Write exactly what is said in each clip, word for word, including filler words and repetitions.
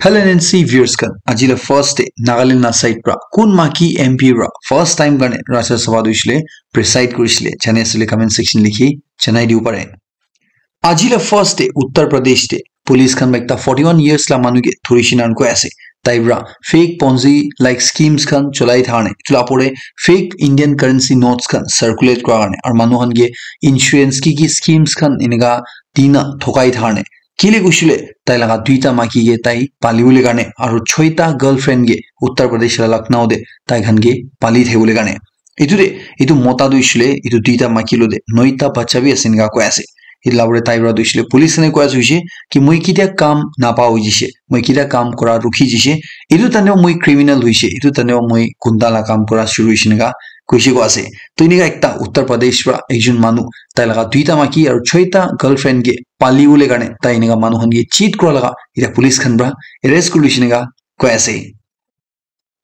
Hello N N C viewers khan, aji la first day Nagaland la side pra kun maki M P pra first time karne Rajya Sabha tu hoishe le preside kurishile, jane asile comment section likhi janai dibo pare. Aji la first day Uttar Pradesh te police khan pra ekta forty-one years la manu ke dhurishi nan koi ase. Tai pra fake Ponzi like schemes khan cholai thane, etu la pore fake Indian currency notes khan circulate kura karne, aru manu khan ke insurance ki ki schemes khan enika dina thokai thane. Kile kushile tai laga duita maki ke tai pali bole karne, aru choita girlfriend ke Uttar Pradesh la Lucknow de tai khan ke pali thai bole karne. Etu de, etu mota tu hoishe le, etu duita maki lo de, noita bacha bi ase enika koi ase. Etu la pore tai pra tu hoishe le, police khan e koi ase hoishe, ki moi kitia kam napa hoi jishe, moi kitia kam kura rukhi jishe, etu tane moi criminal hoishe, etu tane moi gunda la kam kura shuru hoishe enika koishe koi ase. To enika ekta Uttar Pradesh pra ekjon manu, tai laga duita maki aru choita girlfriend ke pali bole karne, tai enika manu khan ke cheat kura laga, etia police khan pra arrest kuri loishe enika koi ase.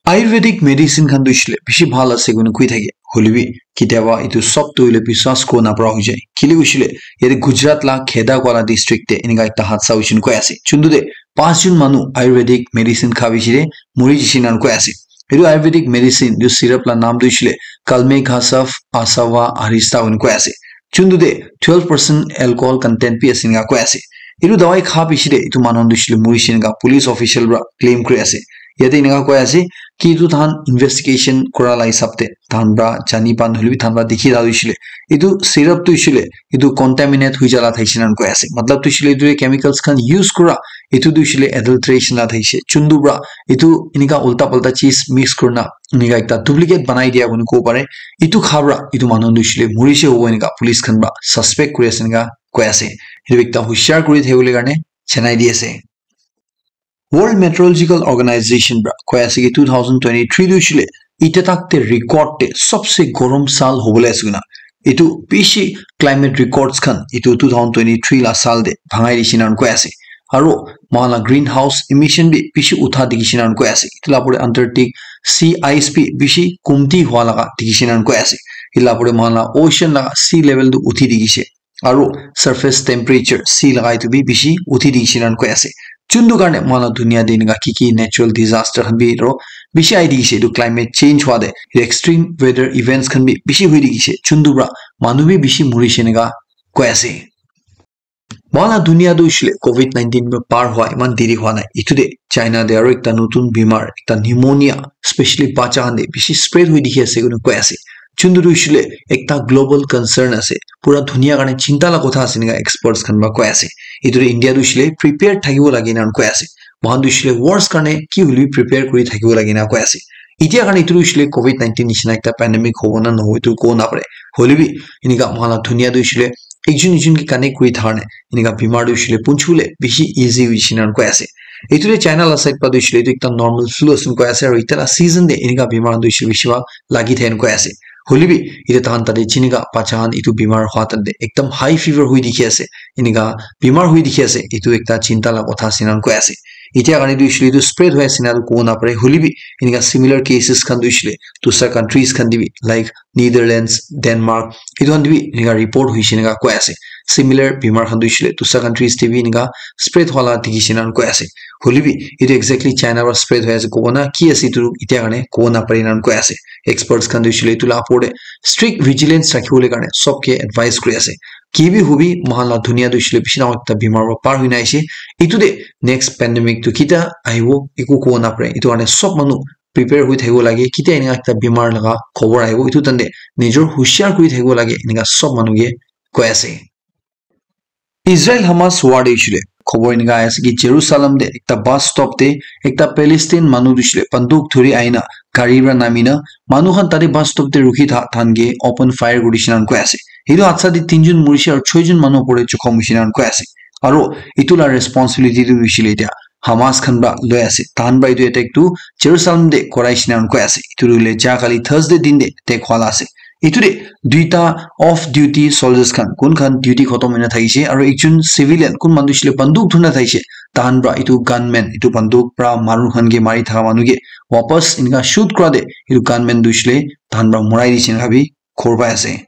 Ayurvedic medicine khan tu hoishe le bishi bhal ase koina koi thake. Hoile bi ketiaba etu sob tu hoile biswas kuri napara hoi jai. Kile hoishe le yate Gujarat la Kheda Kuala district te enika ekta hadsa hoishe koi ase. Chuntu te panch jon manu Ayurvedic medicine kha bishi te mori jishe nan koi ase. Etu Ayurvedic medicine tu syrup la naam tu hoishe le Kalme Ghasav Asava Arista hoina koi ase. Chuntu te twelve percent alcohol content bi ase enika koi ase. Etu dawai kha bishi te etu manu tu hoishe le mori jishe enika police official pra claim kuri ase. Yate enika koi ase ki etu tahan investigation kura la hisab te tahan pra jani pan hoile bi tahan pra dikhi la hoishe le etu syrup tu hoishe le etu contaminate hoi jala thaishe nan koi ase. Matlab tu hoishe le etu chemicals khan use kura, etu tu hoishe le adulteration la thaishe. Chuntu pra etu enika ulta palta cheez mix kurina enika ekta duplicate banai dia koina kobo pare. Etu kha pra etu manu tu hoishe le mori jishe hobo enika police khan pra suspect kuri ase enika koi ase. Etu ekta hushiar kuri thaki bole karne janai di ase. World Meteorological Organization pra koi ase ki two thousand twenty-three tu hoishe le etia tak te record te sobse gorom saal hobole ase koina. Etu bishi climate records khan etu two thousand twenty-three la saal te bhangai dishe nan koi ase. Aru moikhan la greenhouse emission bi bishi utha dikhi she nan koi ase. Etu la pore Antarctic sea ice bi bishi kumti hua laga dikhi she nan koi ase. Etu la pore moikhan la ocean la sea level tu uthi dikhi she. Aru surface temperature sea laga etu bi bishi uthi dikhi she nan koi ase. Chuntu karne moikhan la dunia te enika ki ki natural disaster khan bi ro bishi ai dikhi she, etu climate change hua te extreme weather events khan bi bishi hui dikhi she. Chuntu pra manu bi bishi mori she enika koi ase. Moikhan la dunia tu hoishe le covid nineteen pra par hua eman deri hua nai. Etu te China te aru ekta notun bimar, ekta pneumonia, specially bacha khan te bishi spread hui dikhi ase koina koi ase. Chuntu tu hoishe le ekta global concern ase. Pura dunia karne chinta la kotha ase enika experts khan pra koi ase. Etu te India tu hoishe le prepared thakibo lage enika koi ase. Moikhan tu hoishe le worst karne ki hoile bi prepare kuri thakibo lage enika koi ase. Etia karne etu tu hoishe le covid nineteen nishina ekta pandemic hobo na nohobo etu kobo napare. Hoile bi enika moikhan la dunia tu hoishe le ekjon ekjon ke connect kuri thakane enika bimar tu hoishe le punchibole bishi easy hoishe enika koi ase. Etu te China la side pra tu hoishe le etu ekta normal flu ase koi ase, aru etia la season te enika bimar tu hoishe le bishi bhag lagi thake enika koi ase. Hoile bi etia tahan tate jinika bacha khan etu bimar hua tahan te ekdam high fever hui dikhi ase, enika bimar hui dikhi ase, etu ekta chinta la kotha ase enika koi ase. Etia karne tu hoishe le etu spread hoi ase enika tu kobo napare, hoile bi enika similar cases khan tu hoishe le dusra countries khan te bi like Netherlands, Denmark, etu khan te bi enika report hoishe enika koi ase. Similar bimar khan tu hoishe le dusra countries te bi enika spread hua la dikhi she enika koi ase. Hoile bi etu exactly China pra spread hoi ase kobo na ki ase etu etia karne kobo napare enika koi ase. Experts khan tu hoishe le etu la opor te strict vigilance rakhi bole karne sob ke advice kuri ase. Ki bi hobi moikhan la dunia tu hoishe le bishi dangor ekta bimar pra par hoi na aise. Etu te next pandemic tu ketia ahibo eku kobo napare. Etu karne sob manu prepare hoi thakibo lage, ketia enika ekta bimar laga khobor ahibo, etu tahan te nijor hushiar kuri thakibo lage, enika sob manu ke koi ase. Israel Hamas war te hoishe le khobor enika ahi ase ki Jerusalem te ekta bus stop te ekta Palestine manu tu hoishe le banduk dhuri ahina gari pra nami na manu khan tate bus stop te rukhi tha tahan ke open fire kuri dishe enika koi ase. Etu hadsa te tinjon morishe aru choijon manu opor te jokhom hoishe enika koi ase. Aru etu la responsibility tu hoishe le etia Hamas khan pra loi ase. Tahan pra etu attack tu Jerusalem te korai she enika koi ase. Etu tu hoile ja kali Thursday din te attack hua la ase. Etu te duita off duty soldiers khan, kun khan duty khotom hoi na thakishe, aru ekjon civilian, kun manu tu hoishe le banduk dhuri na thakishe, tahan pra etu gunman, etu banduk pra manu khan ke mari thaka manu ke wapas enika shoot kura te etu gunman tu hoishe le tahan pra morai dishe enika bi khobor pai ase.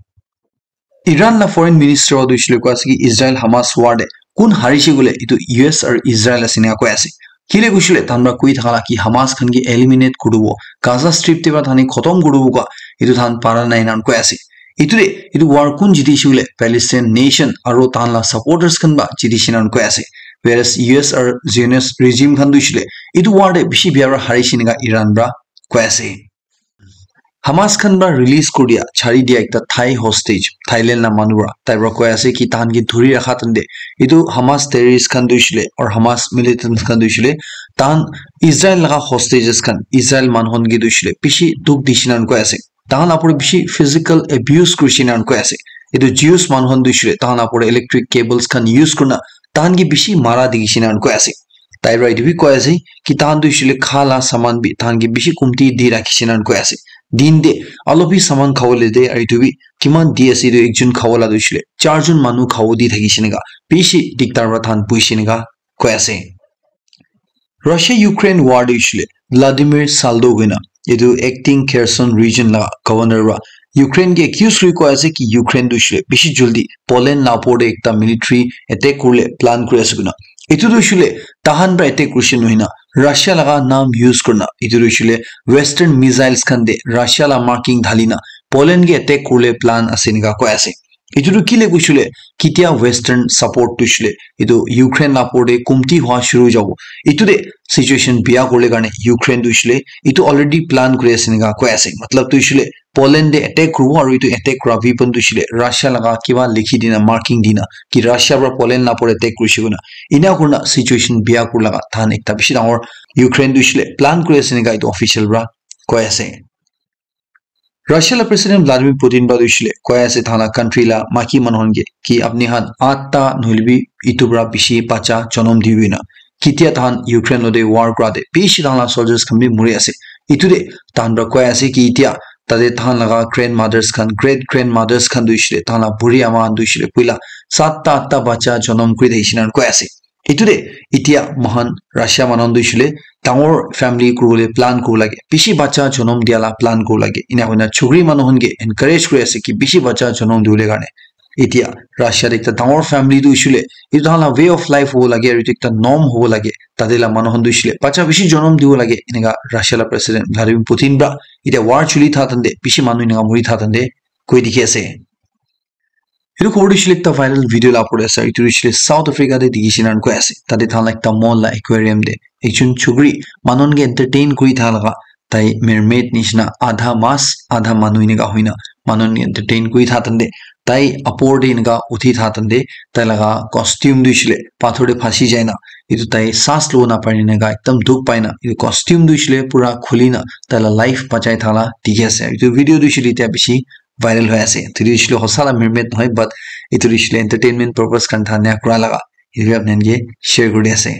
Iran la foreign minister tu hoishe le koi ase ki Israel Hamas war te kun harishe koile etu U S aru Israel ase enika koi ase. Kile kushile tahan pra koi thaka la ki Hamas khan ki eliminate kuribo, Gaza Strip te pra thani khotom kuribo ka, etu than para nai nan koi ase. Etu de, etu war kun jiti shule Palestine nation aro tahan la supporters khan ba jiti shinan koi ase. Whereas U S or Zionist regime khan du shule etu war de bishi bia pra hari shinika Iran pra koi ase. Hamas khan pra release kuri dia, chari dia ekta Thai hostage, Thailand la manu pra, tai pra koi ase ki tahan ki dhuri rakha tande, etu Hamas terrorist khan du shule or Hamas militants khan du shule, tahan Israel laga hostages khan, Israel manu khan ki du shule bishi dukh di shinan koi ase. Tahan apor bishi physical abuse kuri shinan koi ase. Etu Jews manu khan du shule tahan apor electric cables khan use kurna tahan ki bishi mara dikhi shinan koi ase. Tai pra etu bi koi ase ki tahan tu hoishe le kha la saman bi tahan ke bishi kumti di rakhi shina koi ase. Din de alop bi saman khawole de, aru etu bi kiman di ase, etu ekjon khawala tu hoishe le charjon manu khawo di thaki shina ka bishi diktar pra tahan bui shina ka koi ase. Russia Ukraine war de hoishe le Vladimir Saldo koina etu acting Kherson region la governor pra Ukraine ke accuse kuri koi ase ki Ukraine tu hoishe le bishi jaldi Poland la opor de ekta military attack kurle plan kuri ase koina. Etu tu hoishe le tahan pra attack kurishe nohoi na, Russia laga naam use kurina, etu tu hoishe le Western missiles khan de Russia la marking dhali na Poland ke attack kurle plan ase enika koi ase. Etu tu kile koishe le, ketia Western support tu hoishe le etu Ukraine la opor de kumti hua shuru hoi jabo. Etu de situation bia kurle karne Ukraine tu hoishe le etu already plan kuri ase enika koi ase. Matlab tu hoishe le Poland de attack kuribo aru etu attack kura weapon tu hoishe le Russia laga kiba likhi dina, marking dina ki Russia pra Poland la opor attack kurishe koina. Ena kurina situation bia kuri laga tahan ekta bishi dangor Ukraine tu hoishe le plan kuri ase enika etu official pra koi ase. Russia la President Vladimir Putin pra tu hoishe le koi ase tahan la country la maki manu khan ke ki apni khan atta nohole bi etu pra bishi bacha jonom dibi na. Ketia tahan Ukraine lo de war kura de bishi tahan la soldiers khan bi muri ase. Etu de tahan pra koi ase ki etia tate tahan laga grandmothers khan, great grandmothers khan tu hoishe le tahan la buri ama khan tu hoishe le puila satta atta bacha jonom kuri thakishe na koi ase. Etu de etia moikhan Russia manu khan tu hoishe le dangor family kuribole plan kuribo lage, bishi bacha jonom dia la plan kuribo lage. Ena koina chukri manu khan ke encourage kuri ase ki bishi bacha jonom dibole karne. Etia Russia de ekta dangor family tu hoishe le etu tahan la way of life hobo lage aru etu ekta norm hobo lage. Tate la manu khan tu hoishe le bacha bishi jonom dibo lage. Enika Russia la President Vladimir Putin pra etia war chuli tha tande bishi manu enika muri tha tande koi dikhi ase. Etu khobor tu hoishe le ekta viral video la opor de ase. Etu tu hoishe le South Africa de dikhi shina koi ase. Tate tahan la ekta mall la aquarium de ekjon chukri manu khan ke entertain kuri tha laga, tai mermaid nishina adha mas adha manu enika hoina manu khan ke entertain kuri tha tande tai opor de enika uthi tha tande tai laga costume tu hoishe le pathor de phasi jai na etu tai saas lobo na pari na enika ekdam dukh pai na etu costume tu hoishe le pura khuli na tai la life bachai tha la dikhi ase. Etu video tu hoishe le etia bishi viral hoi ase. Etu tu hoishe le hosa la mermaid nohoi, but etu tu hoishe le entertainment purpose khan thania kura laga etu apni khan ke share kuri ase.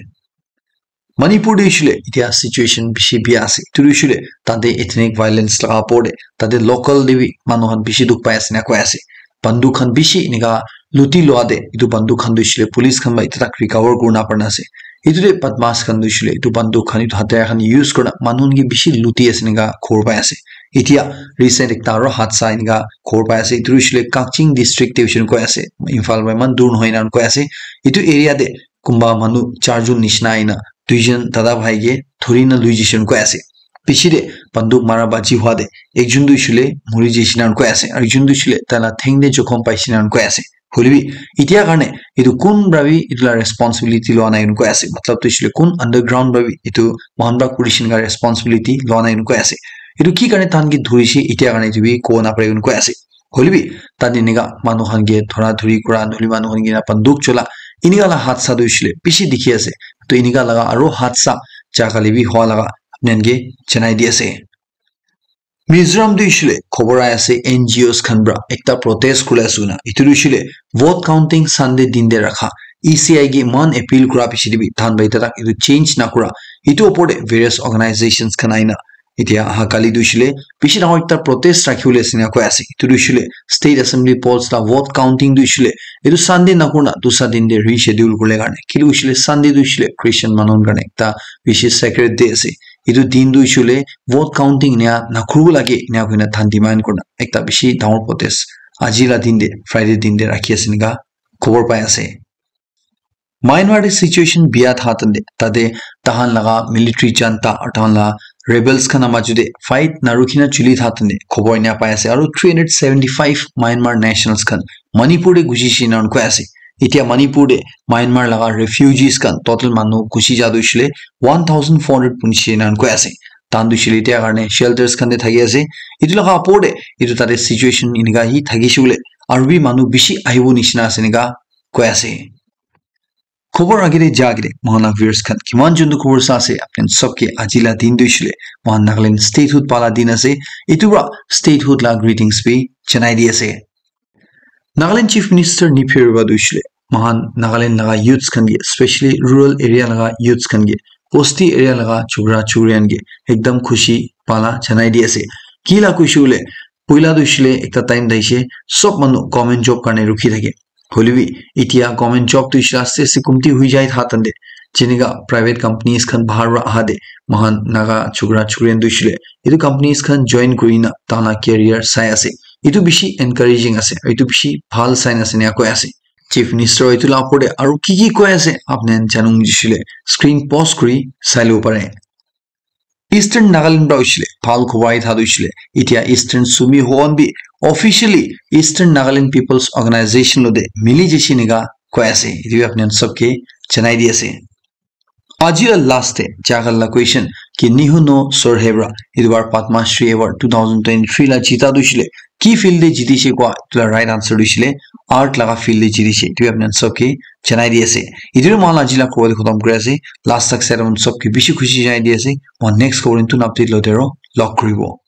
Manipur de hoishe le etia situation bishi bia ase. Etu tu hoishe le tate ethnic violence laga opor de tate local de bi manu khan bishi dukh pai ase na koi ase. Banduk khan bishi enika luti lua de etu banduk khan tu hoishe le police khan ba etia tak recover kuri na para na ase. Etu de badmash khan tu hoishe le etu banduk khan etu hathiar khan use kurina manu khan ke bishi luti ase enika khobor pai ase. Etia recent ekta aro hadsa enika khobor pai ase. Etu tu hoishe le Kakching district de hoishe koi ase. Imphal pra eman dur nohoi enika koi ase. Etu area de kunba manu charjon nishina aina duijon dada bhai ke dhuri na lui jai shina koi ase. Piche de banduk mara baji hua de ekjon tu hoishe le muri jai shina koi ase. Aru ekjon tu hoishe le tai la theng de jokhom pai shina koi ase. Hoile bi etia karne etu kun pra bi etu la responsibility lua nai koi ase. Matlab tu hoishe le kun underground pra bi etu moikhan pra kuri shina responsibility lua nai koi ase. Etu ki karne tahan ke dhurishe etia karne etu bi kobo na pare koi ase. Hoile bi tate enika manu khan ke dhura dhuri kura nohole manu khan ke banduk chola enika la hadsa tu hoishe le bishi dikhi ase. To enika laga aro hadsa ja kali bi hua laga apni khan ke janai di ase. Mizoram tu hoishe le khobor ahi ase N G Os khan pra ekta protest kuri ase koina. Etu tu hoishe le vote counting Sunday din de rakha. E C I ke eman appeal kura piche de bi tahan pra etia tak etu change na kura. Etu opor de various organizations khan aina etia aha kali tu hoishe le bishi dangor ekta protest rakhi bole ase enika koi ase. Etu tu hoishe le State Assembly polls la vote counting tu hoishe le etu Sunday na kurina dusra din de reschedule kuribole karne. Kile hoishe le Sunday tu hoishe le Christian manu khan karne ekta bishi sacred day ase. Etu din tu hoishe le vote counting enika na kuribo lage enika koina tahan demand kurina ekta bishi dangor protest aji la din de, Friday din de rakhi ase enika khobor pai ase. Myanmar te situation bia tha tande tate tahan laga military junta aru tahan laga rebels khan ama jude fight narukina chuli tha tande khobor ina pai ase aru three hundred seventy-five Myanmar nationals khan Manipur te gusi shina koi ase. Itia Manipur te Myanmar laga refugees khan total manu gusi jadu shile one thousand four hundred punchi nan koi ase. Tan du shile tia karne shelters khan te thaki ase. Itu laga apor te itu tate situation inika hi thaki shule aru bi manu bishi ahibo nishina ase nika koi ase. Khobor agire jagire mohana viewers khan kiman juntu khobor sa ase apni sobke ajila din du shile mohan Nagaland statehood pala din ase. Itu pra statehood la greetings bi janai di ase. Nagaland Chief Minister Neiphiu Rio ba du shile mohan Nagaland laga youths khan ke, especially rural area laga youths khan ke, bosti area laga chukra chukriyan ke ekdam khushi pala janai di ase. Ki la khushi hule, poila du shile ekta time daishe sob manu government job karne rukhi thake. Hoilebi itia government job tu shila aste aste kumti hui jai tha tande. Jenika private companies khan bahar ra aha de mohan Naga chukra chukriyan du shile itu companies khan join kurina tana career sai ase. Itu bishi encouraging ase, itu bishi bhal sign ase ena koi ase. Chief Minister itu la opor te aru ki ki koi ase apni khan janung jisile screen pause kuri sai lo pare. Eastern Nagaland pra ushile bhal khobor thadu ushile itia Eastern Sumi Hon bi officially Eastern Nagaland People's Organization lo de mili jesi nika koi ase. Itu bi apni khan sobke janai di ase. Aji la last te jagal la question ki Nihu no Sorhebra itu bar Padma Shri Award two thousand twenty-three la jita du shile ki field te jiti she kwa itu la right answer du shile art laga field te jiti she itu apni khan sobke janai di ase. Itu mohan aji la khobor khotom kuri ase. Last tak side on sobke bishi khushi janai di ase. Mohan next khobor tu update lo dero log kuribo.